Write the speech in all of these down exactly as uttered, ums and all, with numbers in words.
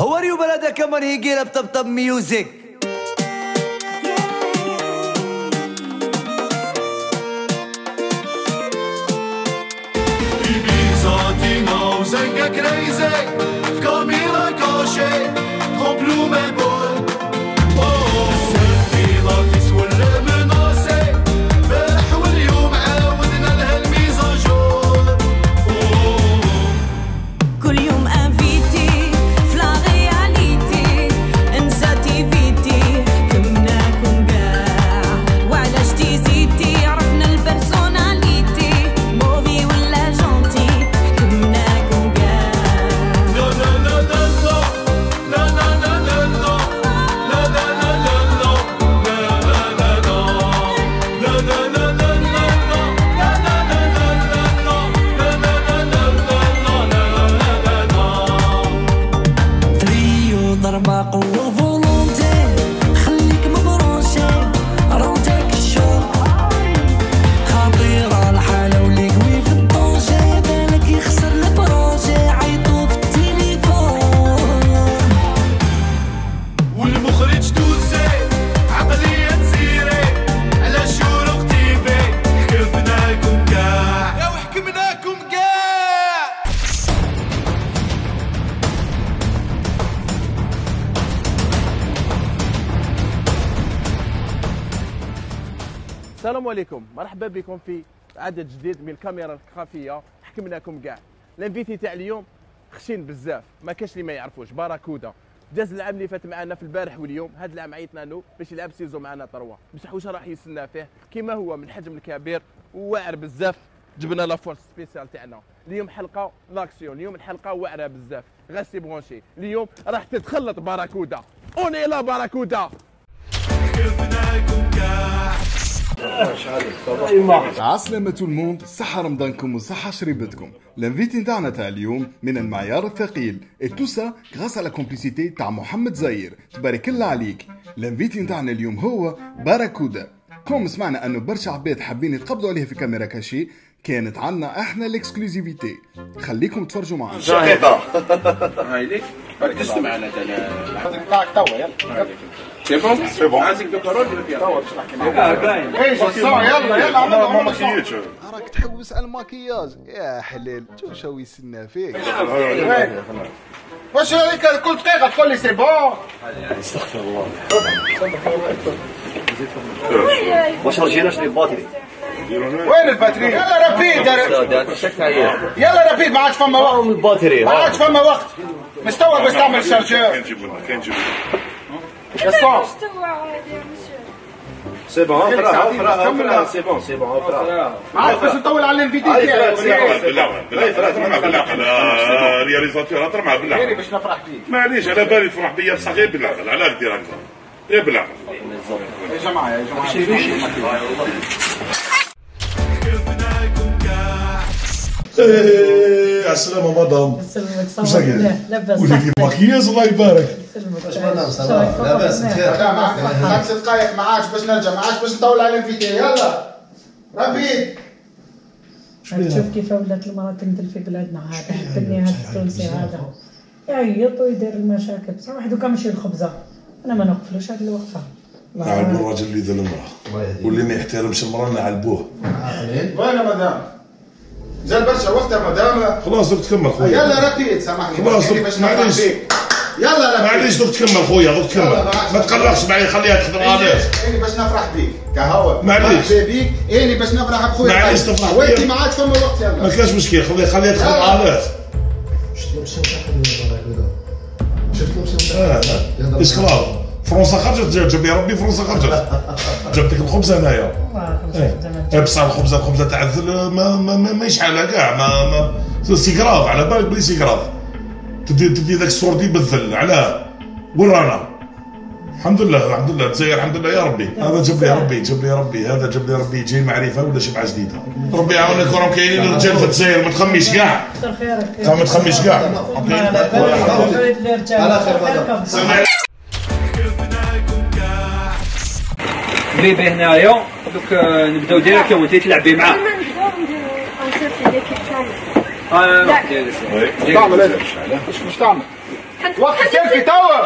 How are you brother? Come on here, get up, top top music. Zenga crazy, comme il a coché, remplis mes boules. Oh, السفي لطيس ولا مناسي، فرح واليوم عاودنا لها الميزاجور. كل يوم انفيتي في لا رياليتي، انسى تيفيتي حكمناكم كاع، وعلاش تيزيتي عرفنا البرسوناليتي، موفي ولا جونتي حكمناكم كاع. لا لا لا لا لا لا لا لا لا لا لا ضربة قوة فولونتي، خليك مبروشي روجك الشوق، خطيرة الحالة وليكوي في الطونجي، بالك يخسر البروجي عيطو في التليفون. والمخرج تونسي عقلية تسيري على شروق تيفي، حكمناكم كاع يا وحكمناكم كاع. السلام عليكم، مرحبا بكم في عدد جديد من الكاميرا الخفيه. حكمناكم كاع. الانفيتي تاع اليوم خشين بزاف، ما كاش اللي ما يعرفوش. باراكودا داز العام اللي فات معنا في البارح واليوم، هذا العام عيطنا له باش يلعب سيزون معنا طروا، بصح واش راح يستنى فيه كيما هو من الحجم الكبير وواعر بزاف. جبنا لا فورس سبيسيال تاعنا اليوم، حلقه لاكسيون. اليوم الحلقه واعره بزاف، غاسي برونشي. اليوم راح تتخلط باراكودا. اوني لا باراكودا. حكمناكم كاع. عسلامة tout le monde، صحة رمضانكم وصحة شريبتكم. الانفيتي نتاعنا تاع اليوم من المعيار الثقيل، et tout ça grâce à la complicité تاع محمد زاير، تبارك الله عليك. الانفيتي نتاعنا اليوم هو باراكودا. كوم سمعنا انه برشا عباد حابين يتقبضوا عليه في كاميرا كاشي، كانت عنا احنا الاكسكلوزيفيتي. خليكم تفرجوا معنا. شقيقة هاي ليك ركزت معنا تاع معك توا. يلا سي بون سي بون عايزك دكتور ولا فيها توا باش نحكي معاك. اه باين ايش الصوره. يلا يلا عملنا ما ماكياج. راك تحوس على الماكياج يا حلال، شو شو يسنى فيك. واش هذيك كل دقيقه تقول لي سي بون. استغفر الله. واش رجينا شري الباتري؟ وين الباتري؟ يلا ربيد يلا ربيد، ما عادش فما وقت. الباتري ما عادش فما وقت، مش توا باش تعمل الشارجور. كان نجيب لنا كان نجيب لنا يا صاح سي بون فرا فرا فرا سي بون سي بون فرا. ما عادش باش نطول على الانفيتي تاعي. بالله بالله ترمى بالعقل رياليزاتور، ترمى بالعقل باش نفرح بيك. معليش على بالي تفرح بيا بصح غير بالعقل. علاه دير هكذا غير بالعقل يا جماعه يا جماعه. ايه السلامة مدام. يسلمك صباح الله. لاباس وليدي ماكياج الله يبارك. يسلمك. واش مدام صباح لاباس بخير. معك ست دقايق، ما عادش باش نرجع، ما عادش باش نطول على الانفيتي. يلا ربيد. شوف كيف ولات المرأة تندل في بلادنا. هذا حبني هذا التونسي هذا يعيط ويدير المشاكل. بصح واحد دوكا ماشي الخبزة، انا ما نوقفلوش هذه الوقفة. نعلبوا الراجل اللي ذل المرأة، واللي ما يحترمش المرأة نعلبوه. وين يا مدام؟ زال برشا وقت يا مدام. خلاص دوك تكمل خويا. يلا ربيد سامحني. خلاص باش معليش. يلا ربيد معليش دوك تكمل خويا دوك تكمل. ما تقلقش معايا، خليها تخدم عليك. اني باش نفرح بيك كهوى. معليش بيك اني باش نفرح بخويا. معليش تفرح بيا. وانت ما عادش فما وقت. يلا ما كاش مشكل، خليها خليها تخدم عليك. شفت اه اه اسكلاف فرنسا خرجت، جاب لي ربي فرنسا خرجت. جبت لك الخبزه هنايا. ايه بصح الخبزه الخبزه تاع الذل ما ما ما يشحالها كاع. ما ما سي كراف، على بالك بلي سي كراف. تدي تدي ذاك السوردي بالذل. علاه وين رانا؟ الحمد لله الحمد لله الجزائر الحمد لله يا ربي. هذا جاب لي ربي جاب لي ربي هذا جاب لي ربي جاي معرفه ولا شبعه جديده. ربي يعاونك. راهم كاينين الرجال في الجزائر، ما تخميش كاع. كثر خيرك. ما تخميش كاع. على خير. بيبي هنايا دوك نبداو ديريكت وانت تلعبي معاه. ما نبداو نصيفطو ليكيب كامل. اه لا تعمل ايه؟ واش تعمل؟ وقت ديالك توا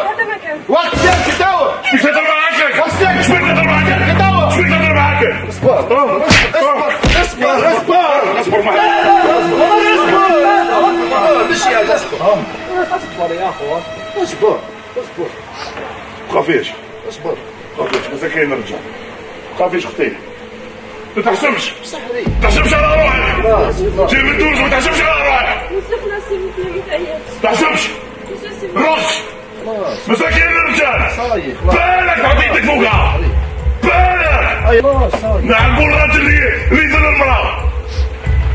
وقت ديالك توا مش تهضر معاك وقت مش تهضر معاك توا مش تهضر معاك اصبر اصبر اصبر اصبر معايا اصبر مش يا اصبر اصبر يا اخو اصبر اصبر خافيش اصبر خافيش مساكين نرجع خافيش اختي ما تحسبش صحري ما تحسبش على روحك جاي من تونس ما تحسبش على روحك ما تحسبش روح مساكين الرجال بالك تعطي يدك فوقها بالك نعرفوا الراجل اللي اللي يدير المراه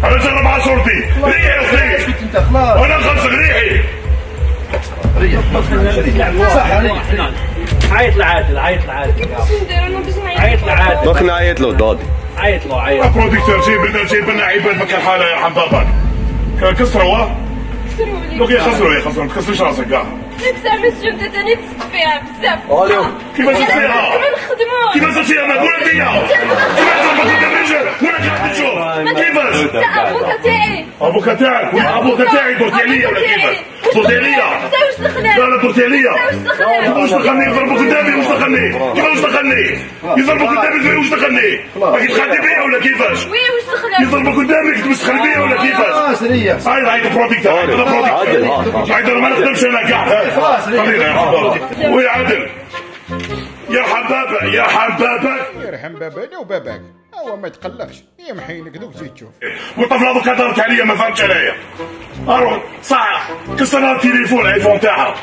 انا جرب مع صورتي ريحي اختي انا نخلصك ريحي صح ريح عيط لعادل عيط لعادل عيط لعادل دوك نعيط له دودي عيط له عيط بروديكتور جيب لنا جيب لنا عباد ما كان حالها يرحم باباك كسروا لو يخسروا يخسروا ما تكسرش راسك كاع بزاف السيوم تاني تسد فيها بزاف كيفاش تسد فيها؟ كيما نخدمو كيفاش تسد فيها مقولة فيا؟ كيفاش تربط الدرجة ولا قاعد تشوف؟ كيفاش؟ تا ابوكا تاعي ابوكا تاعك ابوكا تاعي درتي عليا ولا كيفاش؟ درتي عليا؟ واش دخلها؟ لا لا درتي عليا واش دخلني يضربوا قدامي واش دخلني؟ كيفاش دخلني؟ يضربوا قدامي واش دخلني؟ راكي تخدي بيا ولا كيفاش؟ وي واش دخلها؟ يضربوا قدامك تبس تخلي بيا ولا كيفاش؟ هاي هاي بروديكتور هاي بروديكتور هاي ما نخدمش انا كاع خلينا يا حبيبي ويا عادل يرحم بابا يرحم باباك يرحم بابانا وباباك هو ما يتقلقش يمحينك دوك زيد تشوف والطفل هذوك هضرت عليا ما فهمتش عليا اروح صح كسر التليفون الايفون تاعها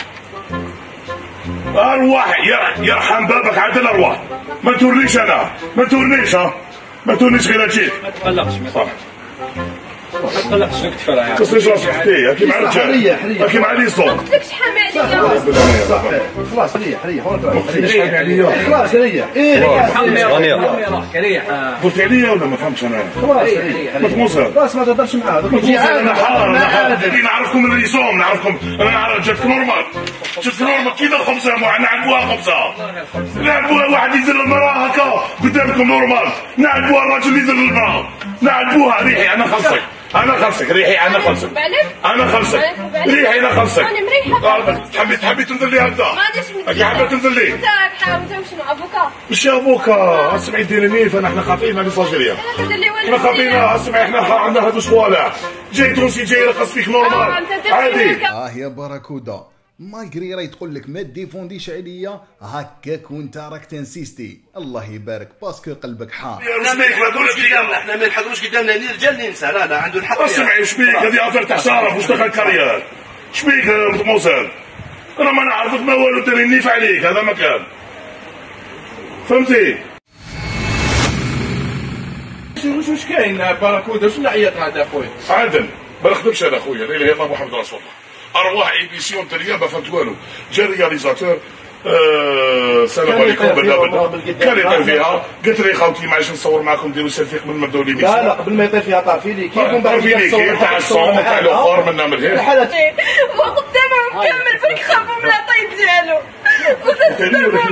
ارواح يرحم بابك عادل ارواح ما تورنيش انا ما تورنيش ها ما تورنيش غير جيت ما تقلقش صح ما تقلقش نكتفى يا كسرش راسك اختي هاكي مع الرجال هاكي مع لي صوت ما قلتلكش حامي عليا خلاص ريح ريح خلاص ريح ريح قلت عليا ولا ما فهمتش انا خلاص ريح ما تموسر خلاص ما تهضرش معاه انا حار انا حار نعرفكم من الرسوم نعرفكم انا نعرف جاتك نورمال جاتك نورمال كيف الخبزه نعلبوها خبزه نعلبوها واحد يدير المراه هكا قدامكم نورمال نعلبوها الراجل اللي يدير المراه نعلبوها ريحي انا خلصك انا خلصك ريحي انا خلصك انا خلصك ريحي انا خلصك انا مريحه تحبي تحبي تنزل لي هكذا غاديش حابه تنزل لي انت تحاول تمشي مع ابوكا مش يا ابوكا اسمعي ديري ميف انا احنا خاطئين هذه صاجريه احنا خاطئين اسمعي احنا عندنا هذو صوالح جاي تونسي جاي يرقص فيك نورمال عادي اه يا باراكودا مايغري راهي تقول لك ما ديفونديش عليا هكاك وانت راك تنسيستي الله يبارك باسكو قلبك حار احنا ما نحضروش قدامنا احنا ما نحضروش قدامنا ني رجال ني نساء لا لا عنده الحق اسمعي شبيك هذه افير تاع شرف واش دخل كارير شبيك موسى انا ما نعرفك ما والو ديري نيف عليك هذا مكان فهمتي واش واش كاين باراكودا واش العياط هذا اخويا عادل ما نخدمش انا اخويا لا اله الا الله محمد رسول الله ارواح ايديسيون تاع ما فهمت والو جا رياليزاتور السلام عليكم بالله كان يطير فيها قلت لي خوتي معليش نصور معكم نديروا سيلفي قبل ما نبداو لي لا لا قبل ما يطير فيها طافي لي كيف من بعد طافي لي كيف تاع الصوم تاع الاخر منا من هنا وقدامهم كامل بالك خافوا من العطيب ديالو وتضربوا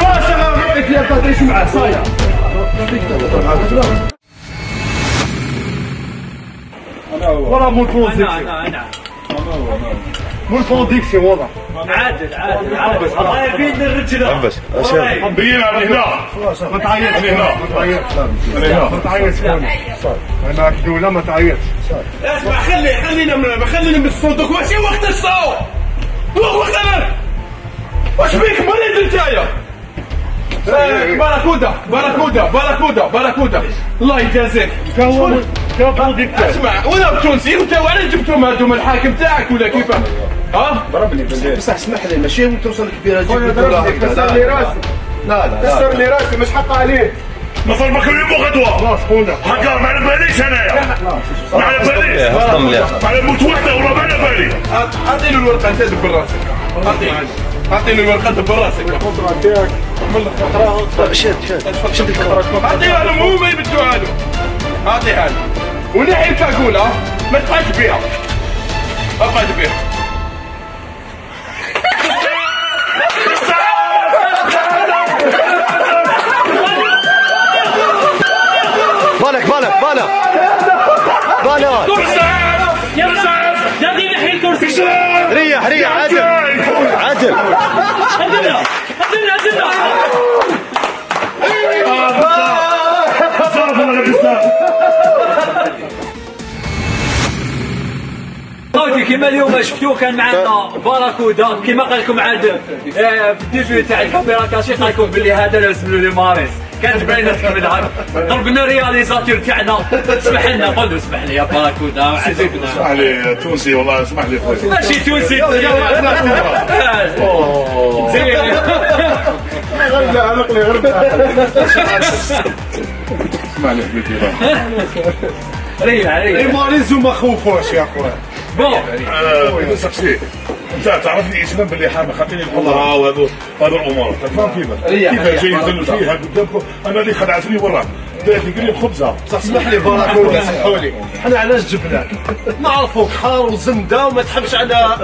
خلاص انا نقول لك لا تهضريش معاه صاير ولا مو البروديكسيون مو البروديكسيون والله عادل عادل عادل الله يبين الرجله بس بينا من هنا ما تعيطش من هنا ما تعيطش ما تعيطش انا كدوله ما تعيطش اسمع خلي خلينا خلينا من الصندوق ماشي وقت الصوت وقت انا واش بيك مريض نتايا باراكودا باراكودا باراكودا باراكودا الله يجازيك اسمع وانا بتونسي وانت وعلاش جبتهم هذوما الحاكم تاعك ولا كيفاه؟ ها؟ ضربني بصح اسمح لي ماشي توصل كبيره جدا كسر لي راسي لا لا كسر لي راسي مش حق عليه نضربك اليوم وغدوه هكا ما على باليش انايا ما على باليش ما على موت وحده ولا ما على بالي. اعطي له الورقه انت دبر راسك اعطيه اعطي له الورقه دبر راسك الخضره تاعك عمل لك خطره شد شد شد الخضره اعطيها لهم هما يبدوها له اعطيها له ونحي الكاكوله ما تبقاش بيها ما تبقاش بيها. بالك بالك بالك بالك يا يا دي نحي الكرسي ريح ريح عدل عدل عدلنا عدلنا عدلنا خوتي كيما اليوم شفتوه كان معنا باراكودا كيما قال لكم عاد في الديبي تاع الكاميرا كاشي قال لكم باللي هذا لازم له لي ماريس كانت باينه تكملها ضربنا رياليزاتور تاعنا اسمح لنا قول له اسمح لي يا باراكودا عزيزنا اسمح لي تونسي والله اسمح لي خويا ماشي تونسي زين غير علق لي غير اسمح لي حبيبي ريح ريح الماريز وما خوفوش يا خويا بون سقسي انت تعرفني اسلام باللي حامل خاطيني الحضره وهذو هذو الامور تفهم كيفاش كيفاش جاي يدل فيها قدامكم انا اللي خدعتني وراه دارت لي قال لي بخبزه اسمح لي باراكودا سمحوا لي حنا علاش جبناك نعرفوك حار وزنده وما تحبش على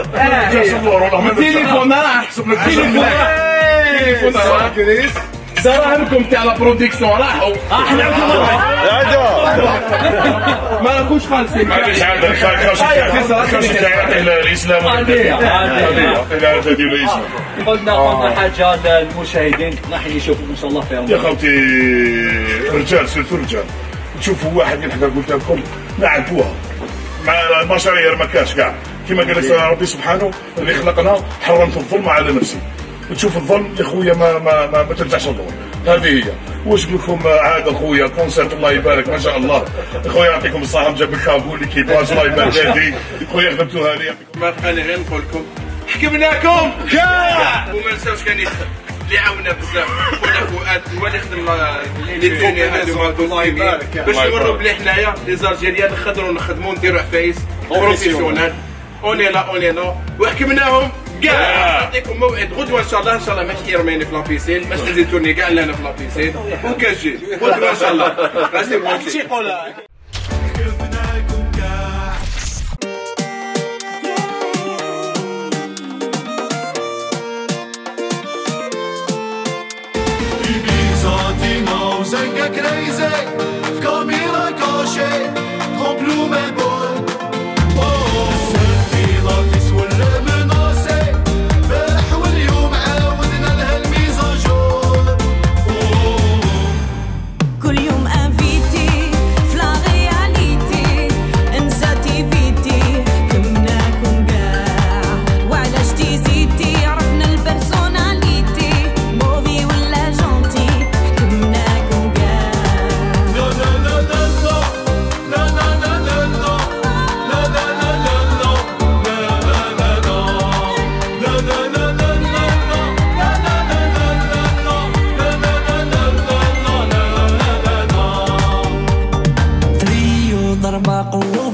التليفون راه احسب لك التليفون راه كريس دراهمكم تاع لا برودكسيون راحوا احنا ما راكوش خالصين معليش عندك خاصك تعطي الاسلام قلنا قلنا حاجه للمشاهدين راح يشوفوا ان شاء الله فيهم يا خوتي رجال سيرتو رجال تشوفوا واحد من حدا قلت لكم نعرفوها مع المشاريع ما كاش كاع كما قال ربي سبحانه اللي خلقنا حرمت الظلم على نفسي وتشوف الظلم يا خويا ما ما ما, ما ترجعش الظلم هذه هي واش لكم عاد خويا كونسيرت الله يبارك ما شاء الله خويا يعطيكم الصحه جاب الكابول كيباج الله يبارك فيك خويا خدمتوها لي ما بقاني غير نقول لكم حكمناكم كاع وما نساوش كان يخدم اللي عاونا بزاف خونا فؤاد هو اللي خدم لي توني هذوما الله يبارك باش نوروا بلي حنايا لي زالجيريان نخدروا نخدموا نديروا عفايس بروفيسيونال اوني لا اوني لا وحكمناهم كاع نعطيكم موعد غدوه ان شاء الله ان شاء الله ماشي يرميني في لابيسين باش نزيد تورني كاع لنا في لابيسين وكنجي غدوه ان شاء الله راسي بغيت شي قولها زنقة كريزي في كاميرا كاشي رمبلو ما بول السيلفي لاكس ولا مناسي بح واليوم عاودنا لها الميزاجور كل يوم انفيتي فلا رياليتي انسى تيفيتي حكمناكم كاع وعلاش تيزيتي عرفنا البرسوناليتي موفي ولا جونتي حكمناكم كاع تريو ضربة قوة